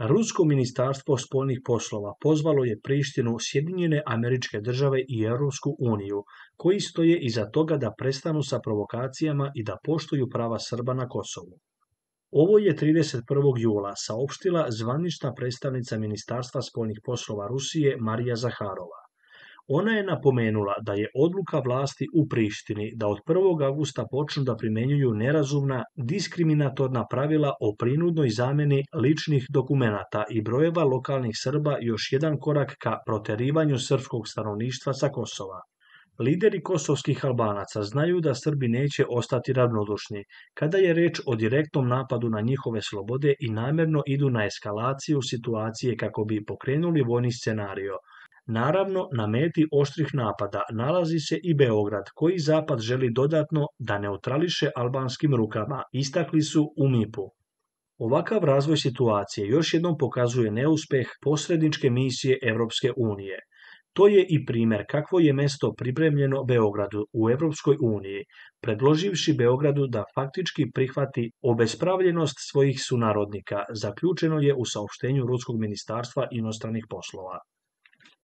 Rusko ministarstvo spoljnih poslova pozvalo je Prištinu, Sjedinjene Američke Države i Europsku uniju, koji stoje iza toga da prestanu sa provokacijama i da poštuju prava Srba na Kosovu. Ovo je 31. jula saopštila zvanična predstavnica Ministarstva spoljnih poslova Rusije Marija Zaharova. Ona je napomenula da je odluka vlasti u Prištini da od 1. avgusta počnu da primenjuju nerazumna, diskriminatorna pravila o prinudnoj zameni ličnih dokumenata i brojeva lokalnih Srba još jedan korak ka proterivanju srpskog stanovništva sa Kosova. Lideri kosovskih Albanaca znaju da Srbi neće ostati ravnodušni kada je reč o direktnom napadu na njihove slobode i namerno idu na eskalaciju situacije kako bi pokrenuli vojni scenario. Naravno, na meti oštrih napada nalazi se i Beograd, koji Zapad želi dodatno da neutrališe albanskim rukama, istakli su u MIP-u. Ovakav razvoj situacije još jednom pokazuje neuspeh posredničke misije Evropske unije. To je i primer kakvo je mesto pripremljeno Beogradu u Evropskoj uniji, predloživši Beogradu da faktički prihvati obespravljenost svojih sunarodnika, zaključeno je u saopštenju Ruskog ministarstva inostranih poslova.